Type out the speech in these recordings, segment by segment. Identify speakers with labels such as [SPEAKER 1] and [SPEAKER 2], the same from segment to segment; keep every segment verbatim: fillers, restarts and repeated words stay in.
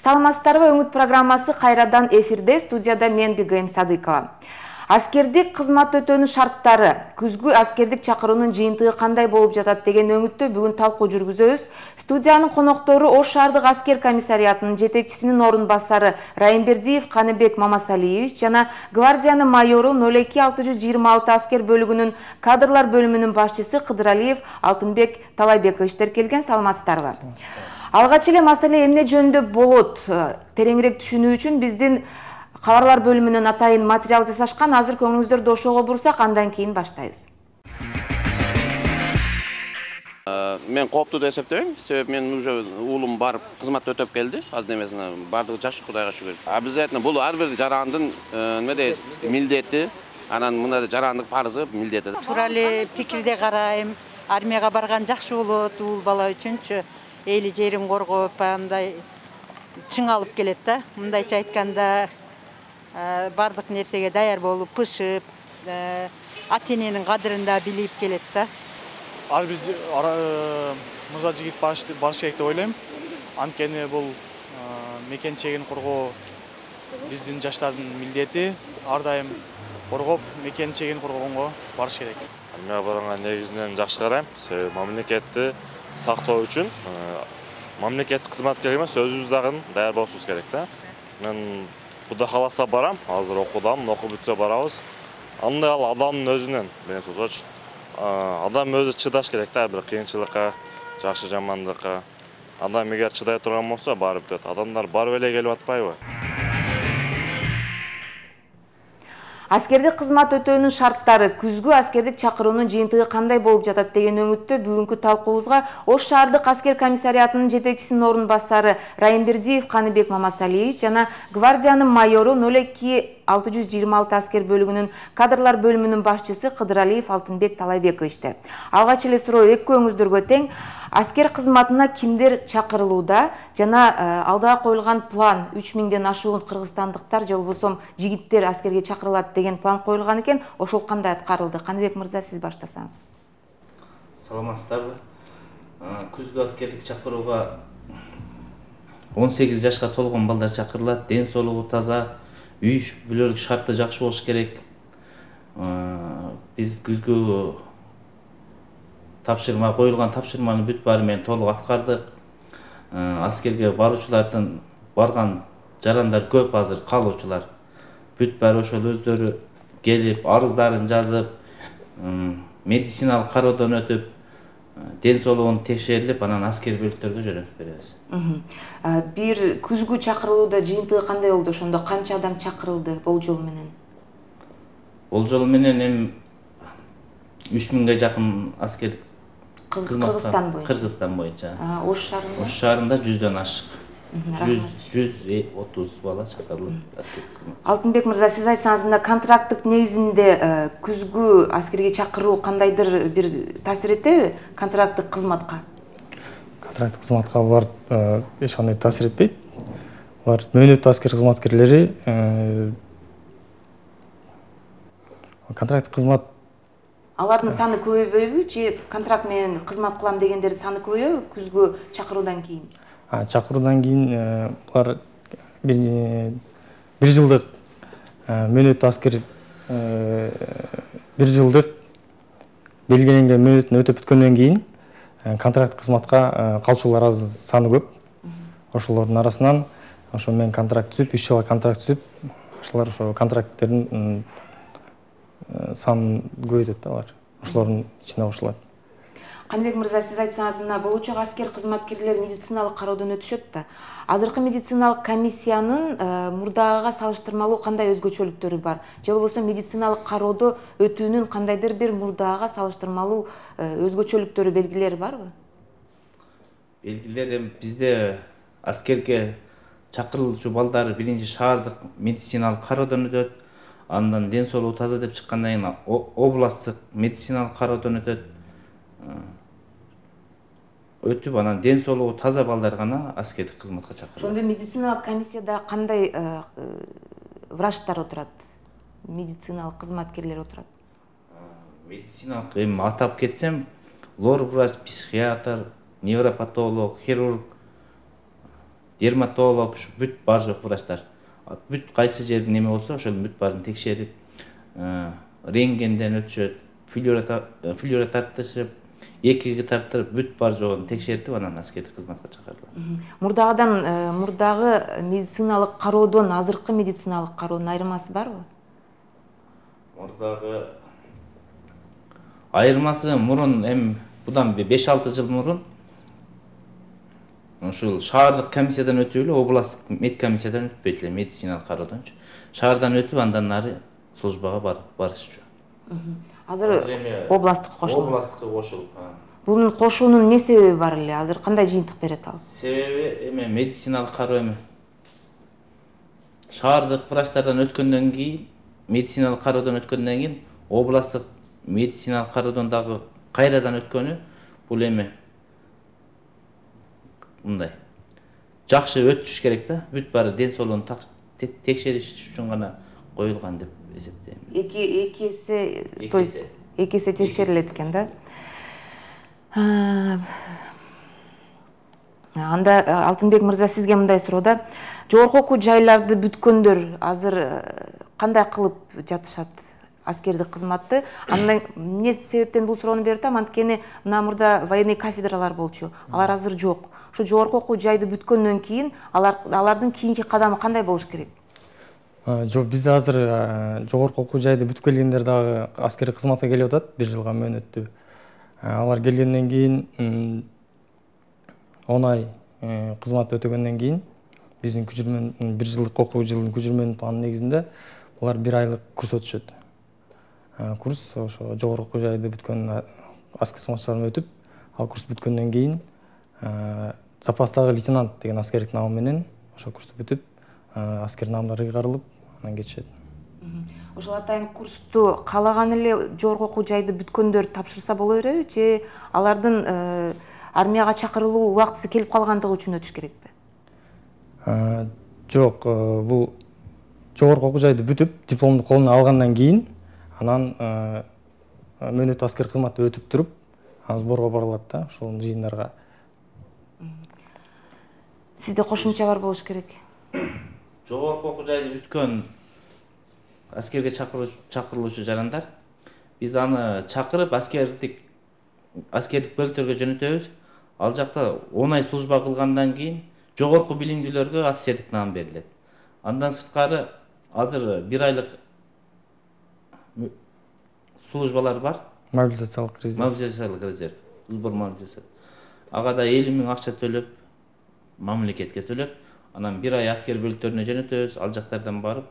[SPEAKER 1] Саламатсыздарбы, Үмүт программасы кайрадан эфирде, студияда мен Бигайым Садыкова. Аскердик кызмат өтөөнүн шарттары, күзгү аскердик чакыруунун жыйынтыгы кандай болуп жатат деген өңүттө бүгүн талкуу жүргүзөбүз. Студиянын коноктору Ош шаардык аскер комиссариятынын жетекчисинин орун басары Райымбердиев Каныбек Мамасалиевич жана гвардиянын майору ноль эки алты жүз жыйырма алты аскер бөлүгүнүн кадрлар бөлүмүнүн башчысы Кыдыралиев Алтынбек Талайбековичтер келген. Саламатсыздарбы? Алгач эле маселе эмне жөнүндө болот? Тереңирээк түшүнүү үчүн биздин кабарлар бөлүмүнөн атайын материал жасашкан. Азыр көңүлүңүздөрдү ошого бурсак, андан кийин баштайбыз.
[SPEAKER 2] Мен кооптуу деп эсептебейм. Себеби мен уже уулум барып кызмат өтөп келди. Азыр эмесине бардыгы жакшы, Кудайга шүгүр. Обязательно бул ар бир жарандын неме дейт, милдети, анан мындай жарандык парызы, милдети.
[SPEAKER 3] Туура эле пикирде карайм. Армияга барган жакшы болот, уул бала үчүнчү. Эли жерин коргоп, андай чың алып келет да. Мындайча айтканда, бардык нерсеге даяр болуп, пышып, ата-эненин кадырын да билип келет да.
[SPEAKER 4] Ар бир мырза жигит баш керек деп ойлойм. Анткени бул мекен чегин коргоо биздин жаштардын милдети. Ар дайым коргоп, мекен чегин коргогонго барыш керек.
[SPEAKER 5] Армияга барганга негизинен жакшы карайм. Себеби мамлекетти сактоо үчүн мамлекеттик кызматкер эмес, өзүбүз дагы даяр болушубуз керек да. Мен Кудай кааласа барам, азыр окудам, окуп бүтсө барабыз. Андай ал адамдын өзүнөн менен болсочу. Адам өзү чыдаш керек да, бир кыйынчылыкка, жакшы жамандыкка. Адам эгер чыдай турган болсо, барып бүтөт. Адамдар барып эле келип атпайбы?
[SPEAKER 1] Аскердик кызмат өтөөнүн шарттары, күзгү аскердик чакыруунун жыйынтыгы кандай болуп жатат деген өңүттө бүгүнкү талкуубузга Ош шаардык аскер комиссариятынын жетекчисинин орун басары Райымбердиев Каныбек Мамасалиевич жана гвардиянын майору ноль эки алты жүз жыйырма алты аскер бөлүгүнүн кадрлар бөлүмүнүн башчысы Кыдыралиев Алтынбек Талайбековичтер. Алгач эле суроо экөөңүздөргө тең. Аскер кызматына кимдер чакырылууда жана алдыга коюлган план үч миңден ашуун кыргызстандыктар же болбосо жигиттер аскерге чакырылат деген план коюлган экен. Ошол кандай аткарылды? Каныбек мырза, сиз баштасаңыз.
[SPEAKER 6] Саламатсыздарбы? Күзгү аскерлик чакырууга он сегиз жашка толгон балдар чакырылат. Ден соолугу таза, үй бүлөлүк шарты жакшы болуш керек. Биз күзгү тапшырма коюлган тапшырманы бүт баары менен толук аткардык. Аскерге баруучулардын барган жарандар көп, азыр калуучулар бүт баары ошол өздөрү келип, арыздарын жазып, медициналык кароодон өтүп, ден соолугун текшерилип, анан аскер бөлүктөргө жөнөтүп беребиз.
[SPEAKER 1] Бир күзгү чакырылууда жыйынтыгы кандай болду? Ошондо канча адам чакырылды болжол менен?
[SPEAKER 6] Болжол менен эми үч миңге жакын аскер
[SPEAKER 1] Кыргызстан боюнча.
[SPEAKER 6] Кыргызстан боюнча.
[SPEAKER 1] Ош шаарында?
[SPEAKER 6] Ош шаарында жүздөн ашык. жүз отуз бала чакырылып аскердик кызмат.
[SPEAKER 1] Алтынбек мырза, сиз айтсаңыз, мына контракттык негизинде күзгү аскерге чакыруу кандайдыр бир таасир этеби контракттык кызматка?
[SPEAKER 4] Контракттык кызматка булар эч кандай таасир этпейт. Булар мөөнөттүү аскер кызматкерлери контракттык кызмат.
[SPEAKER 1] Алардын саны көбөйбөйбү же контракт менен кызмат кылам дегендердин саны көбөйбү күзгү чакыруудан кийин?
[SPEAKER 4] Чакыруудан кийин булар бир жылдык мөөнөттүү аскер бир жылдык белгиленген мөөнөтүн өтөп бүткөндөн кийин контракт кызматка калчулар аз, саны көп. Ошолордун арасынан ошо менен контракт түзүп, үч жылга контракт түзүп, ошолор ошо контракттерин санын көбөйтөт да алар. Ошолордун ичине кошулат.
[SPEAKER 1] Каныбек мырза, сиз айтсаңыз, мына болочок аскер кызматкерлер медициналык кароодон өтүшөт да. Азыркы медициналык комиссиянын мурдагыга салыштырмалуу кандай өзгөчөлүктөрү бар? Же болбосо медициналык кароодо өтүүнүн кандайдыр бир мурдагыга салыштырмалуу өзгөчөлүктөрү, белгилери барбы?
[SPEAKER 6] Белгилер эми бизде аскерге чакырылуучу балдар биринчи шаардык медициналык кароодон өтөт. Андан ден соолугу таза деп чыккандан кийин областтык медициналык кароодон өтөт. Өтүп, анан ден соолугу таза балдар гана аскердик кызматка чакырылат.
[SPEAKER 1] Ошондо медициналык комиссияда кандай врачтар отурат? Медициналык кызматкерлер отурат?
[SPEAKER 6] Медициналык эми атап кетсем, лор врач, психиатр, невропатолог, хирург, дерматолог, бүт бар жок врачтар. Бүт кайсы жер неме болсо ошол бүт баарын текшерип, рентгенден өтүшөт, флюора тартышып, экиге тартырып, бүт бар жогун текшертип, анан аскердик кызматка чакырылат.
[SPEAKER 1] Мурдагыдан, мурдагы медициналык кароодон азыркы медициналык кароонун айырмасы барбы?
[SPEAKER 6] Мурдагы айырмасы мурун эми будан беш алты жыл мурун ушул шаардык комиссиядан өтүп эле областтык медкомиссиядан өтпөйт эле медициналык кароодончу. Шаардан өтүп андан нары службага барып барышчу.
[SPEAKER 1] Азыр областтык кошулду.
[SPEAKER 6] Областтыкка кошулуп.
[SPEAKER 1] Бунун кошуунун не себеби бар эле? Азыр кандай жыйынтык берет ал?
[SPEAKER 6] Себеби эме медициналык кароо эме. Шаардык врачтардан өткөндөн кийин, медициналык кароодон өткөндөн кийин, областтык медициналык кароодон дагы кайрадан өткөнү бул эме мындай. Жакшы өтүш керек да, бүт баары ден соолугун текшериш үчүн гана коюлган деп эсептейм.
[SPEAKER 1] Эки эки эсе, то есть эки эсе текшерилет экен да. Анда Алтынбек мырза, сизге мындай суроо. Жогорку окуу жайларды бүткөндөр азыр кандай кылып жатышат аскердик кызматты? Андан эмне себептен бул суроону берип атам? Анткени мына мурда военный кафедралар болчу. Алар азыр жок. Ушу жогорку окуу жайды бүткөндөн кийин алардын кийинки кадамы кандай болуш керек?
[SPEAKER 4] Жок, бизде азыр жогорку окуу жайды бүтүп келгендер дагы аскердик кызматка келип атат, бир жылга мөөнөттүү. Алар келгенден кийин он ай кызмат өтөгөндөн кийин биздин күчүрмөн бир жылдык окуу жылдын күчүрмөнүн планын негизинде булар бир айлык курс өтүшөт. Курс ошо жогорку окуу жайды бүткөн аскер кызматчылар өтүп, ал курс бүткөндөн кийин запастагы лейтенант деген аскердик нам менен ошо курсту бүтүп, аскер наамдары ыйгарылып, анан кетишет.
[SPEAKER 1] Ошол атайын курсту каалаган эле жогорку окуу жайды бүткөндөр тапшырса боло береби, же алардын армияга чакырылуу убактысы келип калгандыгы үчүн өтүш керекпи?
[SPEAKER 4] Жок, бул жогорку окуу жайды бүтүп, дипломду колуна алгандан кийин, анан мөөнөттүү аскер кызматты өтүп туруп, анан сборго барылат да, ошол жыйындарга.
[SPEAKER 1] Сизде кошумча бар болуш керек.
[SPEAKER 6] Жогорку окуу жайды бүткөн аскерге чакырылуучу жарандар, биз аны чакырып аскердик аскердик бөлүктөргө жөнөтөбүз. Ал жакта он ай служба кылгандан кийин жогорку билимдүүлөргө офицердик наам берилет. Андан сырткары азыр бир айлык службалар бар.
[SPEAKER 4] Мобилизациялык резерв.
[SPEAKER 6] Мобилизациялык резерв. Сбор мобилизация. Ага да элүү миң акча төлөп, мамлекетке төлөп, анан бир ай аскер бөлүктөрүнө жөнөтөбүз, ал жактардан барып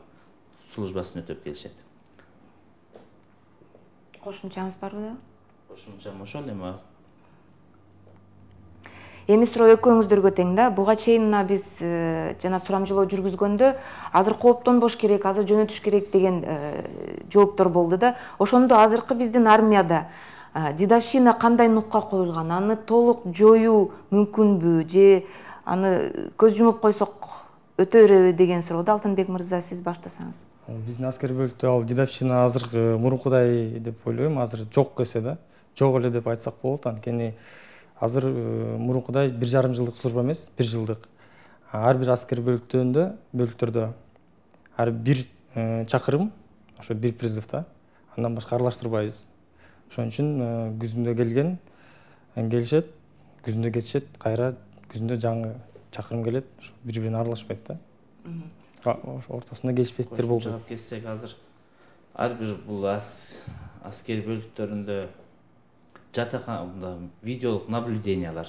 [SPEAKER 6] службасын өтөп келишет.
[SPEAKER 1] Кошумчаңыз барбы да?
[SPEAKER 6] Кошумчам ошол эми.
[SPEAKER 1] Эми суроо экөөңүздөргө тең да. Буга чейин мына биз жана сурамжылоо жүргүзгөндө азыр кооптонбош керек, азыр жөнөтүш керек деген жооптор болду да. Ошондо азыркы биздин армияда дедовщина кандай нукка коюлган? Аны толук жоюу мүмкүнбү, же аны көз жумуп койсок өтө береби деген сурооду Алтынбек мырза, сиз баштасаңыз.
[SPEAKER 4] Биздин аскер бөлүктө ал дедовщина азыркы мурункудай деп ойлойм, азыр жок эсе да. Жок эле деп айтсак болот, анткени азыр мурункудай бир жарым жылдык служба эмес, бир жылдык. Ар бир аскер бөлүктөрүндө, бөлүктөрдө ар бир чакырым, ошо бир призыв да. Андан башка аралаштырбайбыз. Ошон үчүн күзүндө келген келишет, күзүндө кетишет, кайра күзүндө жаңы чакырым келет, ошо бири-бирине аралашпайт да. Ошо ортосунда келишпестиктер болду.
[SPEAKER 6] Жаап кетсек, азыр ар бир бул аскер бөлүктөрүндө жатакана, видеолук наблюдениялар,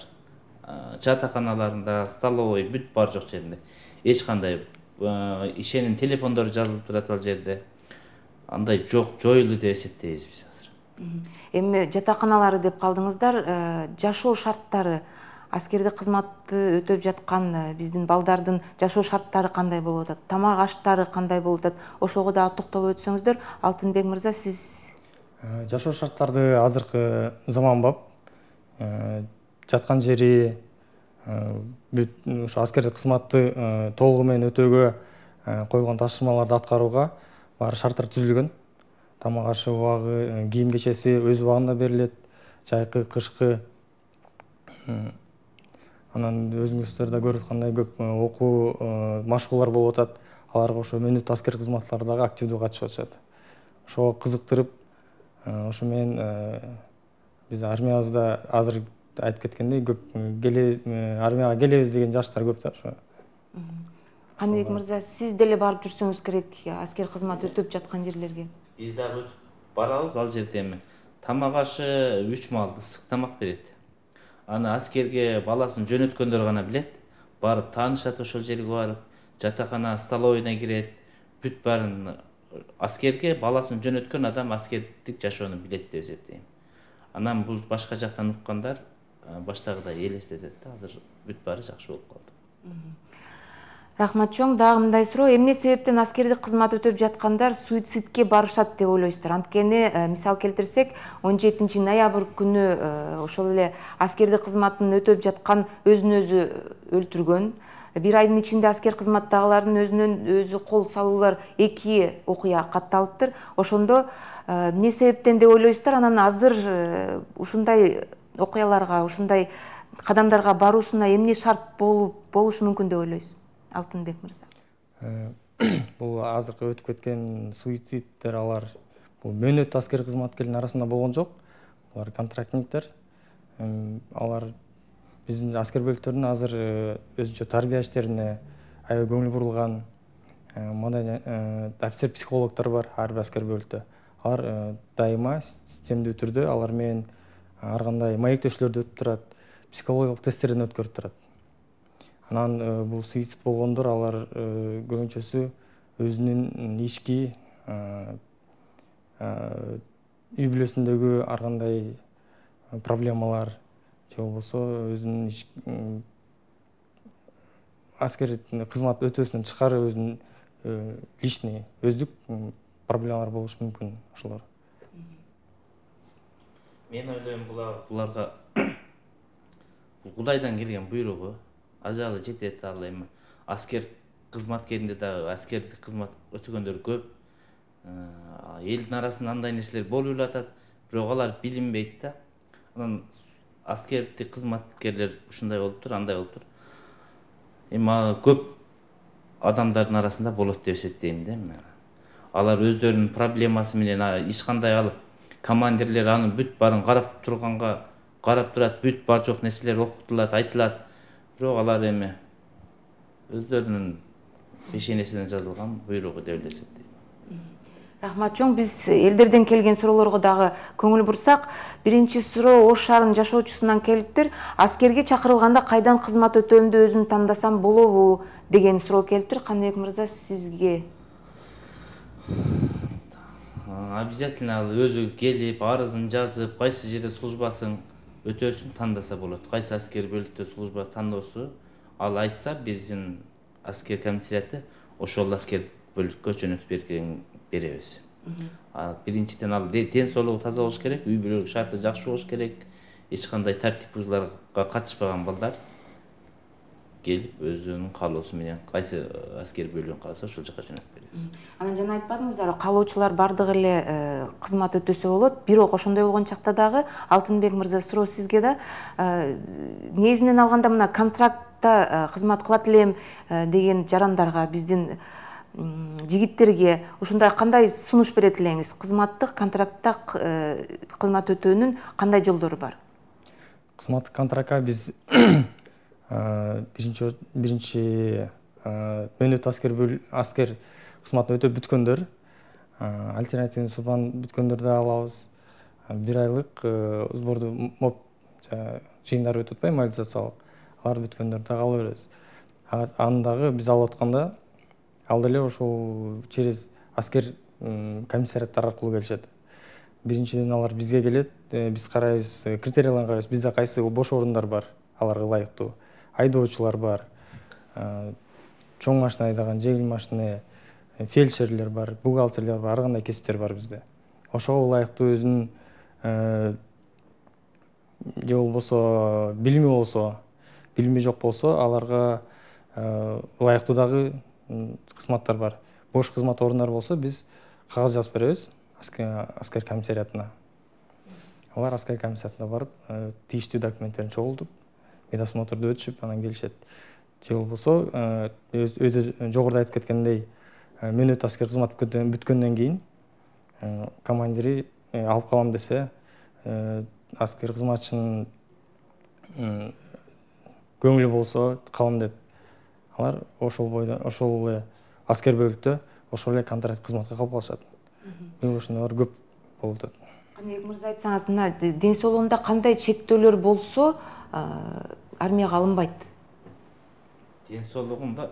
[SPEAKER 6] жатаканаларында, столовой, бүт бар жок жеринде эч кандай ишенин телефондору жазылып турат ал жерде. Андай жок, жоюлду деп эсептейбиз биз азыр.
[SPEAKER 1] Эми жатаканалары деп калдыңыздар, жашоо шарттары, аскердик кызматты өтөп жаткан биздин балдардын жашоо шарттары кандай болуп атат? Тамак аштары кандай болуп атат? Ошого дагы токтолуп өтсөңүздөр. Алтынбек мырза, сиз
[SPEAKER 4] жашоо шарттарды азыркы заманбап, жаткан жери, бүт ушу аскердик кызматты толугу менен өтөөгө коюлган тапшырмаларды аткарууга баары шарттар түзүлгөн. Тамак ашы убагы, кийим кечеси өз убагында берилет, жайкы, кышкы. Анан өзүңүздөр да көрүп аткандай көп окуу машыгуулар болуп атат. Аларга ошо мөөнөт аскер кызматкарлар дагы активдүү катышып атышат. Ошого кызыктырып, ошо менен биз армиябызда азыр айтып кеткендей көп армияга келебиз деген жаштар көп да ошо.
[SPEAKER 1] Каныбек мырза, сиз деле барып жүрсөңүз керек аскер кызмат өтөп жаткан жерлерге.
[SPEAKER 6] Биз дагы өтүп барабыз, ал жерде эми тамак ашы үч маал ысык тамак берет. Аны аскерге баласын жөнөткөндөр гана билет. Барып таанышат, ошол жерге барып, жатакана, столовойна кирет. Бүт баарын аскерге баласын жөнөткөн адам аскердик жашоону билет деп эсептейм. Анан бул башка жактан уккандар баштагыдай элестетет да, азыр бүт баары жакшы болуп калды.
[SPEAKER 1] Рахмат чоң. Дагы мындай суроо: эмне себептен аскердик кызмат өтөп жаткандар суицидке барышат деп ойлойсуздар? Анткени мисал келтирсек, он жетинчи ноябрь күнү ошол эле аскердик кызматын өтөп жаткан өзүн өзү өлтүргөн. Бир айдын ичинде аскер кызматтагылардын өзүнөн өзү кол салуулар эки окуя катталыптыр. Ошондо эмне себептен деп ойлойсуздар? Анан азыр ушундай окуяларга, ушундай кадамдарга баруусуна эмне шарт болушу мүмкүн деп ойлойсуз? Алтынбек мырза.
[SPEAKER 4] Бул азыркы өтүп кеткен суициддер, алар бул мөөнөт аскер кызматкерлердин арасында болгон жок. Алар контрактниктер. Алар биздин аскер бөлүктөрдүн азыр өзүнчө тарбия иштерине аябай көңүл бурулган офицер психологдор бар ар бир аскер бөлүктө. Алар дайыма системдүү түрдө алар менен ар кандай маектешүүлөрдү өтүп турат, психологиялык тесттерден өткөрүп турат. Анан бул суицид болгондор алар көбүнчөсү өзүнүн ички үй бүлөсүндөгү ар кандай проблемалар же болбосо өзүнүн аскер кызмат өтөөсүнөн тышкары өзүнүн личный өздүк проблемалар болушу мүмкүн ошолор.
[SPEAKER 6] Мен ойлойм, буларга Кудайдан келген буйругу. Ажалы жетет. Ал эми аскер кызматкеринде дагы аскердик кызмат өтөгөндөр көп. Элдин арасында андай нерселер болуп атат, бирок алар билинбейт да. Анан аскердик кызматкерлер ушундай болуптур, андай болуптур. Эми көп адамдардын арасында болот деп эсептейм да. Алар өздөрүнүн проблемасы менен эч кандай ал командирлер аны бүт баарын карап турганга карап турат, бүт бар жок нерселер окутулат, айтылат. Бирок алар эми өздөрүнүн пешенесинен жазылган буйругу деп эсептейм.
[SPEAKER 1] Рахмат чоң. Биз элдерден келген суроолорго дагы көңүл бурсак, биринчи суроо Ош шаарынын жашоочусунан келиптир. Аскерге чакырылганда кайдан кызмат өтөөмдү өзүм тандасам болобу деген суроо келиптир. Каныбек мырза, сизге?
[SPEAKER 6] Обязательно ал өзү келип, арызын жазып, кайсы жерде службасын өтөөсүн тандаса болот. Кайсы аскер бөлүктө служба тандоосу ал айтса, биздин аскер комиссарияты ошол аскер бөлүккө жөнөтүп беребиз. Биринчиден ал ден соолугу таза болуш керек, үй бүлөлүк шарты жакшы болуш керек. Эч кандай тартип бузууларга катышпаган балдар келип өзүнүн каалоосу менен кайсы аскер бөлүгүн кааласа ошол жака жөнөтүп беребиз.
[SPEAKER 1] Анан жана айтпадыңыздар, каалоочулар бардыгы эле кызмат өтөсө болот. Бирок ошондой болгон чакта дагы Алтынбек мырза, суроо сизге да. Негизинен алганда мына контрактта кызмат кылат элем деген жарандарга, биздин жигиттерге ушундай кандай сунуш берет элеңиз? Кызматтык контрактта кызмат өтөөнүн кандай жолдору бар?
[SPEAKER 4] Кызматтык контрактка биз биринчи биринчи мөөнөт аскер аскер кызматын өтөп бүткөндөр, альтернативный судьбаны бүткөндөрдү алабыз. Бир айлык сборду моп жыйындар өтүп атпайбы, мобилизациялык. Алар бүткөндөрдү дагы ала беребиз. Аны дагы биз алып атканда ал деле ошол через аскер комиссарияттар аркылуу келишет. Биринчиден алар бизге келет, биз карайбыз, критерияларын карайбыз. Бизде кайсы бош орундар бар, аларга ылайыктуу. Айдоочулар бар, чоң машина айдаган, жеңил машина, фельдшерлер бар, бухгалтерлер бар, ар кандай кесиптер бар бизде. Ошого ылайыктуу өзүнүн же болбосо билими болсо, билими жок болсо, аларга ылайыктуу дагы кызматтар бар. Бош кызмат орундар болсо, биз кагаз жазып беребиз аскер комиссариятына. Алар аскер комиссариятына барып, тийиштүү документтерин чогултуп, медосмотрду өтүшүп анан келишет. Же болбосо өйдө жогоруда айтып кеткендей мөөнөт аскер кызмат бүткөндөн кийин командири алып калам десе, аскер кызматчынын көңүлү болсо калам деп алар ошол бойдо ошол эле аскер бөлүктө ошол эле контракт кызматка калып калышат. Мен ошондойлор көп болуп атат.
[SPEAKER 1] Каныбек мырза, айтсаңыз, мына ден соолугунда кандай чектөөлөр болсо армияга алынбайт?
[SPEAKER 6] Ден соолугунда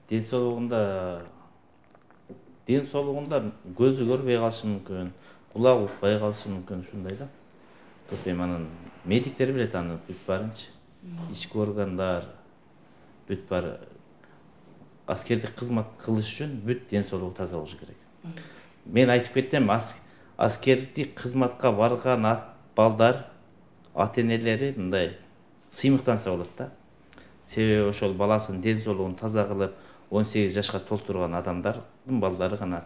[SPEAKER 6] ден соолугунда ден соолугунда көзү көрбөй калышы мүмкүн, кулагы укпай калышы мүмкүн, ушундай да. Көп эми анан медиктер билет аны бүт баарынчы. Ички органдар бүт баары аскердик кызмат кылыш үчүн бүт ден соолугу таза болушу керек. Мен айтып кеттим, аскердик кызматка барган балдар, ата-энелери мындай сыймыктанса болот да. Себеби ошол баласынын ден соолугун таза кылып, он сегиз жашка толтурган адамдардын балдары гана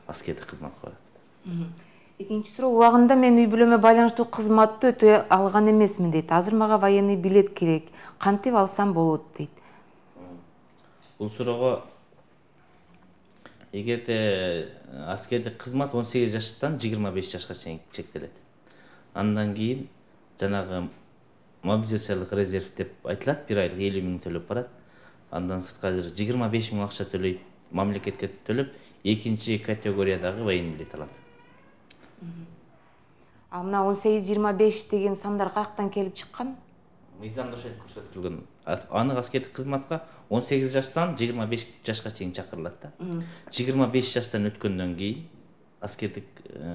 [SPEAKER 6] аскердик кызматка барат.
[SPEAKER 1] Экинчи суроо, убагында мен үй бүлөмө байланыштуу кызматты өтөй алган эмесмин дейт. Азыр мага военный билет керек. Кантип алсам болот дейт.
[SPEAKER 6] Бул суроого эгерде аскердик кызмат он сегиз жаштан жыйырма беш жашка чейин чектелет. Андан кийин жанагы мобилизациялык резерв деп айтылат, бир айлык элүү миң төлөп барат. Андан сырткы азыр жыйырма беш миң акча төлөйт, мамлекетке төлөп, экинчи категориядагы военный билет алат.
[SPEAKER 1] А мына он сегиз жыйырма беш деген сандар каяктан келип чыккан?
[SPEAKER 6] Мыйзамда ошентип көрсөтүлгөн. Аны аскердик кызматка он сегиз жаштан жыйырма беш жашка чейин чакырылат да. жыйырма беш жаштан өткөндөн кийин аскердик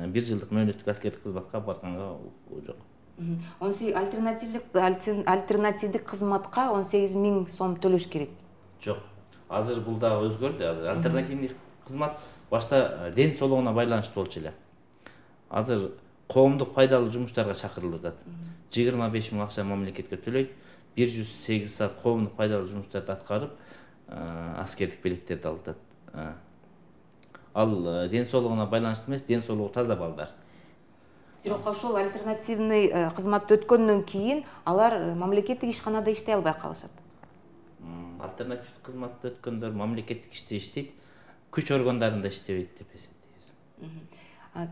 [SPEAKER 6] бир жылдык мөөнөттүк аскердик кызматка барганга укугу жок.
[SPEAKER 1] он сегиз альтернативдик альтернативдик кызматка он сегиз миң сом төлөш керек.
[SPEAKER 6] Жок. Азыр бул дагы өзгөрдү. Азыр альтернативдик кызмат башта ден соолугуна байланыштуу болчу эле. Азыр коомдук пайдалуу жумуштарга чакырылып атат. жыйырма беш миң акча мамлекетке төлөйт, бир жүз сегиз саат коомдук пайдалуу жумуштарды аткарып, аскердик билеттерди алып атат. Ал ден соолугуна байланыштуу эмес, ден соолугу таза балдар.
[SPEAKER 1] Бирок ошол альтернативный кызматты өткөндөн кийин алар мамлекеттик ишканада иштей албай калышат.
[SPEAKER 6] Альтернативдик кызматты өткөндөр мамлекеттик иште иштейт, күч органдарында иштебейт деп эсептейбиз.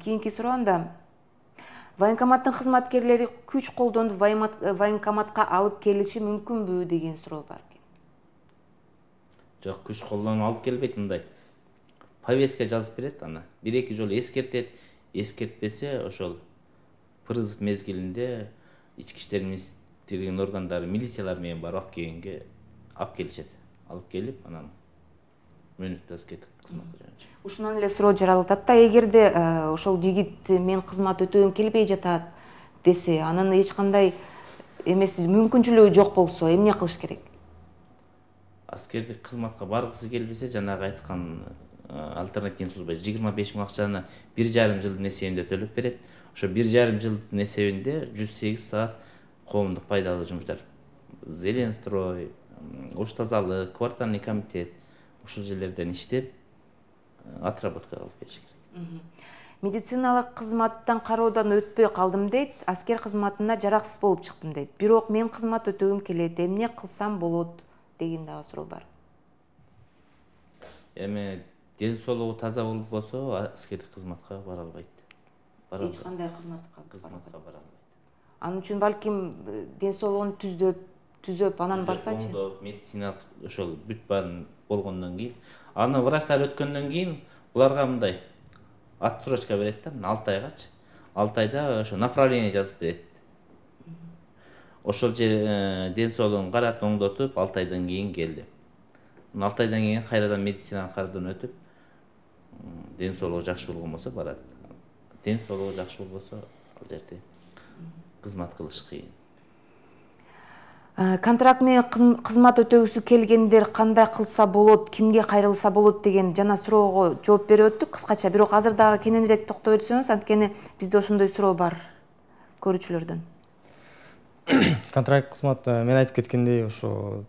[SPEAKER 1] Кийинки суроомда, военкоматтын кызматкерлери күч колдонуп военкоматка алып келиши мүмкүнбү деген суроо бар экен.
[SPEAKER 6] Жок, күч колдонуп алып келбейт, мындай. Повестка жазып берет, аны бир эки жолу эскертет, эскертпесе ошол призыв мезгилинде ички иштер министрлигинин органдары милициялар менен барып алып келгенге алып келишет. Алып келип, анан мөөнөттүк аскердик кызматка жөнөтүшөт.
[SPEAKER 1] Ушунан эле суроо жаралып атат да, эгерде ошол жигит мен кызмат өтөгүм келбей жатат десе, анын эч кандай эмес мүмкүнчүлүгү жок болсо, эмне кылыш керек?
[SPEAKER 6] Аскердик кызматка баргысы келбесе, жанагы айткан альтернативный служба жыйырма беш миң акчаны бир жарым жылдын эсебинде төлөп берет. Ошо бир жарым жылдын эсебинде жүз сегиз саат коомдук пайдалуу жумуштар, Зеленстрой, ош тазалык, квартальный комитет ушул жерлерден иштеп отработка алып бериш керек.
[SPEAKER 1] Медициналык кызматтан кароодон өтпөй калдым дейт, аскер кызматына жараксыз болуп чыктым дейт. Бирок мен кызмат өтөгүм келет, эмне кылсам болот деген дагы суроо бар.
[SPEAKER 6] Эми ден соолугу таза болбосо аскердик кызматка бара албайт.
[SPEAKER 1] Эч кандай кызматка
[SPEAKER 6] кызматка бара албайт.
[SPEAKER 1] Анын үчүн балким ден соолугун түзөп, түзөп анан барсачы.
[SPEAKER 6] Медициналык ошол бүт баарын болгондон кийин, аны врачтар өткөндөн кийин буларга мындай отсрочка берет да, алты айгачы. алты айда ошо направление жазып берет. Ошол же ден соолугун карап, оңдотуп, алты айдан кийин кел деп. алты айдан кийин кайрадан медициналык кароодон өтүп, ден соолугу жакшы болгон болсо барат. Ден соолугу жакшы болбосо ал жерде кызмат кылыш кыйын.
[SPEAKER 1] Контракт менен кызмат өтөгүсү келгендер кандай кылса болот, кимге кайрылса болот деген жана суроого жооп берип өттүк кыскача. Бирок азыр дагы кененирээк токтоп өтсөңүз, анткени бизде ошондой суроо бар көрүүчүлөрдөн.
[SPEAKER 4] Контракт кызмат мен айтып кеткендей, ошо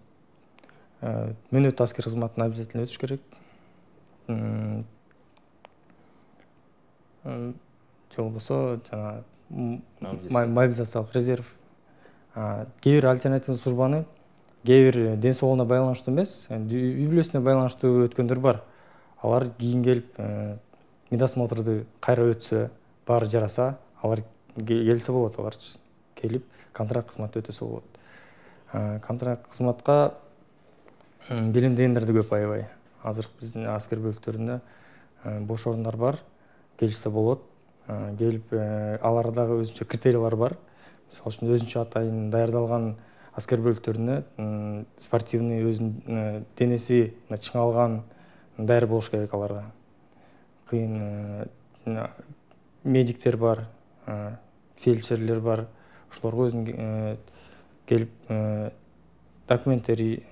[SPEAKER 4] мөөнөт аскер кызматына обязательно өтүш керек. Же болбосо жана мобилизациялык резерв кээ бир альтернативдүү службаны кээ бир ден соолугуна байланыштуу эмес, үй бүлөсүнө байланыштуу өткөндөр бар. Алар кийин келип медосмотрду кайра өтсө, баары жараса, алар келсе болот, алар келип контракт кызматты өтөсө болот. Контракт кызматка белемдегендер да көп аябай. Азыр биздин аскер бөлүктөрүндө бош орундар бар, келишсе болот. Келип алардагы өзүнчө критерийлер бар. Мисалы үчүн өзүнчө атайын даярдалган аскер бөлүктөрүнө спортивный өзүнүн денеси чыңалган даяр болуш керек аларга. Кыйын медиктер бар, фельдшерлер бар. Ошолорго өзүнүн келип документтери,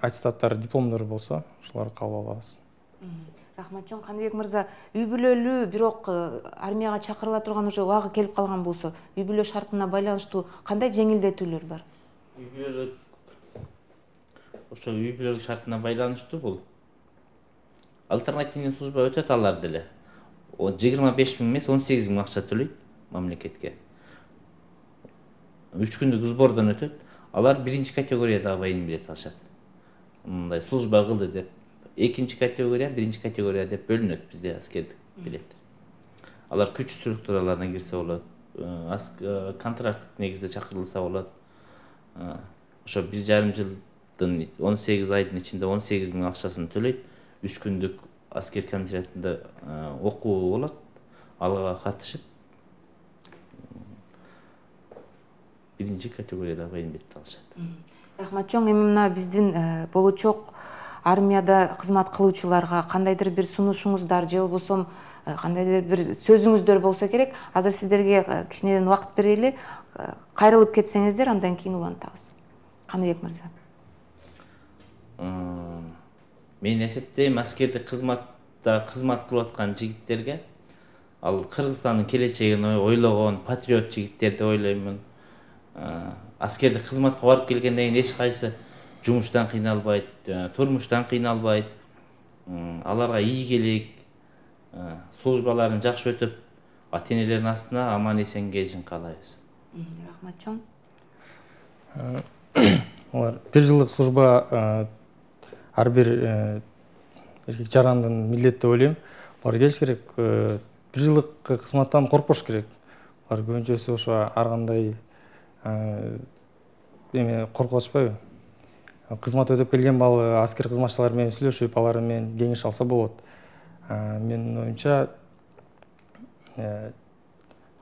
[SPEAKER 4] аттестаттары, дипломдору болсо, ошолорду кабыл алабыз.
[SPEAKER 1] Рахматжон Каныбек мырза, үй бүлөлүү бирок армияга чакырыла турган уже убагы келип калган болсо, үй бүлө шартына байланыштуу кандай жеңилдетүүлөр бар?
[SPEAKER 6] Үй бүлөлүк ошо үй бүлөлүк шартына байланыштуу бул альтернативный служба өтөт алар деле. жыйырма беш миң эмес, он сегиз миң акча төлөйт мамлекетке. үч күндүк сбордон өтөт. Алар биринчи категориядагы военный билет алышат. Мындай служба кылды деп. Экинчи категория, биринчи категория деп бөлүнөт бизде аскердик билеттер. Алар күч структураларына кирсе болот, контракттык негизде чакырылса болот. Ошо бир жарым жылдын он сегиз айдын ичинде он сегиз миң акчасын төлөйт. үч күндүк аскер комитетинде окуу болот. Алга катышып биринчи категориядагы военный билетти алышат.
[SPEAKER 1] Рахматжон, эми мына биздин болочок армияда кызмат кылуучуларга кандайдыр бир сунушуңуздар же болбосо кандайдыр бир сөзүңүздөр болсо керек. Азыр сиздерге кичинеден убакыт берели. Кайрылып кетсеңиздер, андан кийин улантабыз. Каныбек мырза.
[SPEAKER 6] Мен эсептейм, аскердик кызматта кызмат кылып аткан жигиттерге ал Кыргызстандын келечегин ойлогон патриот жигиттер деп ойлоймун. Аскердик кызматка барып келгенден кийин эч кайсы жумуштан кыйналбайт, турмуштан кыйналбайт. Аларга ийгилик, службаларын жакшы өтүп, ата-энелердин астына аман эсен келишин каалайбыз.
[SPEAKER 1] Рахматжон.
[SPEAKER 4] Алар бир жылдык служба ар бир эркек жарандын милдети деп ойлойм. Алар келиш керек. Бир жылдык кызматтан коркпош керек. Алар көбүнчөсү ошо ар кандай эме коркуп атышпайбы? Кызмат өтөп келген бала аскер кызматчылар менен сүйлөшүп, алар менен кеңеш алса болот. Менин оюмча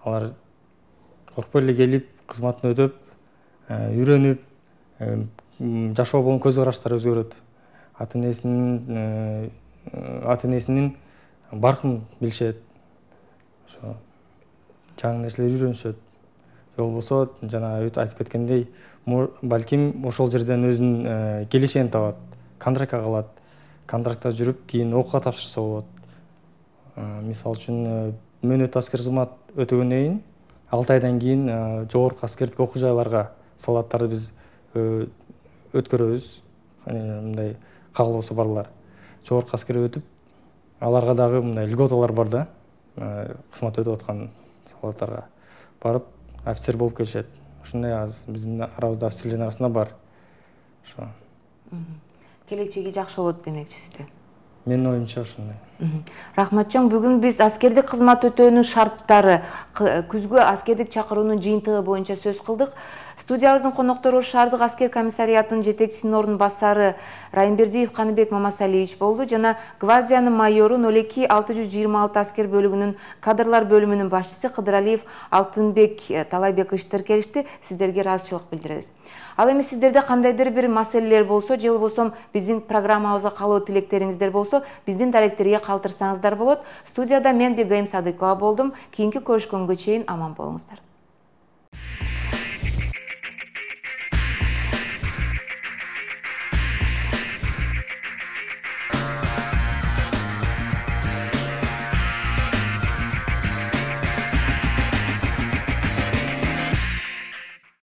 [SPEAKER 4] алар коркпой эле келип, кызматын өтөп, үйрөнүп, жашоо болгон көз караштары өзгөрөт. Ата-энесинин ата-энесинин баркын билишет. Ошо жаңы нерселер үйрөнүшөт. Же болбосо жана айтып кеткендей, балким ошол жерден өзүнүн келешегин табат, контрактка калат. Контрактта жүрүп, кийин окууга тапшырса болот. Мисалы үчүн, мөөнөт аскер кызмат өтөгөндөн кийин алты айдан кийин жогорку аскердик окуу жайларга солдаттарды биз өткөрөбүз. Мындай каалоосу барлар. Жогорку аскер өтүп, аларга дагы мындай льготалар бар да, кызмат өтүп аткан солдаттарга барып офицер болуп келишет. Ушундай аз биздин арабызда офицерлердин арасында бар. Ошо.
[SPEAKER 1] Келечеги жакшы болот демекчисиз.
[SPEAKER 4] Менин оюмча ошондой.
[SPEAKER 1] Рахматжон, бүгүн биз аскердик кызмат өтөөнүн шарттары, күзгү аскердик чакыруунун жыйынтыгы боюнча сөз кылдык. Студиябыздын коноктору шаардык аскер комиссариятынын жетекчисинин орун басары Райымбердиев Каныбек Мамасалиевич болду жана гвардиянын майору ноль эки алты жүз жыйырма алты аскер бөлүгүнүн кадрлар бөлүмүнүн башчысы Кыдыралиев Алтынбек Талайбекович келишти. Сиздерге ыраазычылык билдиребиз. Ал эми сиздерде кандайдыр бир маселелер болсо, же болбосо биздин программабызга калуу тилектериңиздер болсо, биздин даректерге калтырсаңыздар болот. Студияда мен Бегайым Садыкова болдум. Кийинки көрүшкөнгө чейин аман болуңуздар.